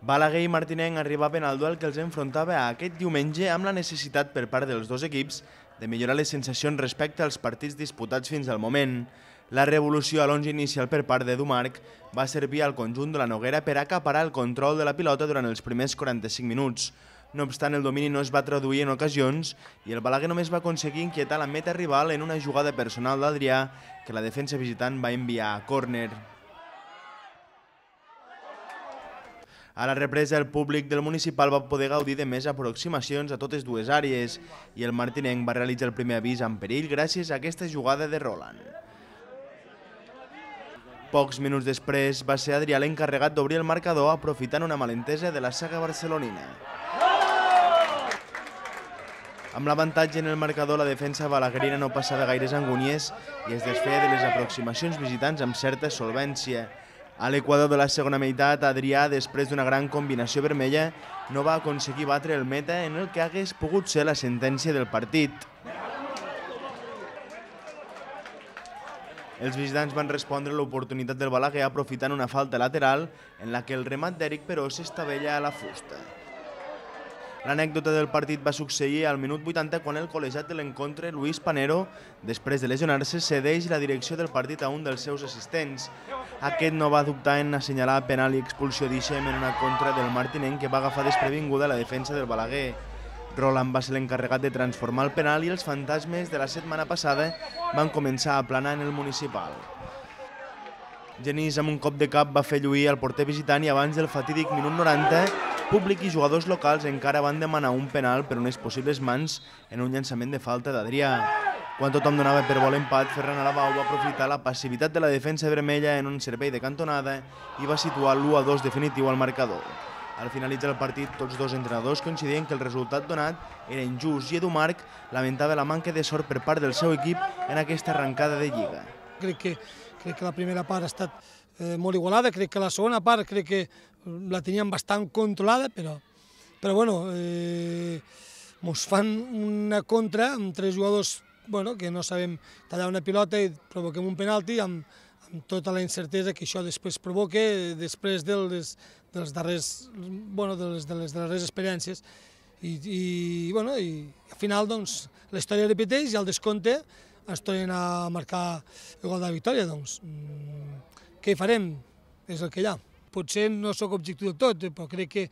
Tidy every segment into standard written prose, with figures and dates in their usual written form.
Balaguer i Martinenc arribaven al duel que els enfrontava aquest diumenge amb la necessitat per part dels dos equips de millorar les sensacions respecte als partits disputats fins al moment. La revolució a l'11 inicial per part de Dumarc va servir al conjunt de la Noguera per acaparar el control de la pilota durant els primers 45 minuts. No obstant, el domini no es va traduir en ocasions i el Balaguer només va aconseguir inquietar la meta rival en una jugada personal d'Adrià que la defensa visitant va enviar a córner. A la represa, el públic del municipal va poder gaudir de més aproximacions a totes dues àrees i el martinenc va realitzar el primer avís en perill gràcies a aquesta jugada de Roland. Pocs minuts després va ser Adrià l'encarregat d'obrir el marcador aprofitant una malentesa de la saga barcelonina. Amb l'avantatge en el marcador, la defensa balaguerina no passava gaires angúnies i es desfeia de les aproximacions visitants amb certa solvència. A l'equador de la segona meitat, Adrià, després d'una gran combinació vermella, no va aconseguir batre el meta en el que hagués pogut ser la sentència del partit. Els visitants van respondre a l'oportunitat del Balaguer aprofitant una falta lateral en la que el remat d'Eric Peró s'estavella a la fusta. L'anècdota del partit va succeir al minut 80 quan el col·legiat de l'encontre, Luis Panero, després de lesionar-se, cedeix la direcció del partit a un dels seus assistents. Aquest no va dubtar en assenyalar penal i expulsió d'Ixem en una contra del martinenc que va agafar desprevinguda la defensa del Balaguer. Roland va ser l'encarregat de transformar el penal i els fantasmes de la setmana passada van començar a planar en el municipal. Genís, amb un cop de cap, va fer lluir al porter visitant i abans del fatídic minut 90, públic i jugadors locals encara van demanar un penal per unes possibles mans en un llançament de falta d'Adrià. Quan tothom donava per bo l'empat, Ferran Arabau va aprofitar la passivitat de la defensa vermella en un servei de cantonada i va situar l'1-2 definitiu al marcador. Al finalitzar el partit, tots dos entrenadors coincidien que el resultat donat era injust i Edu Marc lamentava la manca de sort per part del seu equip en aquesta arrencada de Lliga. Crec que la primera part ha estat molt igualada, crec que la segona part que la teníem bastant controlada, però bueno, ens fan una contra amb tres jugadors que no sabem tallar una pilota i provoquem un penalti amb tota la incertesa que això després provoca després de les darreres experiències. I al final la història repeteix i al descompte ens tornen a marcar el gol de la victòria. Què hi farem? És el que hi ha. Potser no sóc objectiu de tot, però crec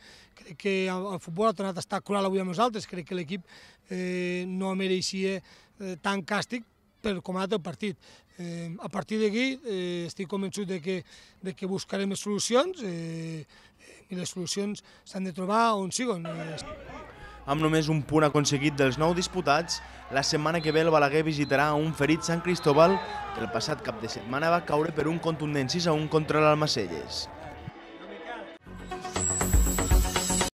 que el futbol ha tornat a estar cruel avui amb nosaltres. Crec que l'equip no mereixia tant càstig com ha anat el partit. A partir d'aquí estic convençut de que buscarem les solucions i les solucions s'han de trobar on siguen. Amb només un punt aconseguit dels 9 disputats, la setmana que ve el Balaguer visitarà un ferit Sant Cristóbal que el passat cap de setmana va caure per un contundent 6-1 contra l'Almacelles.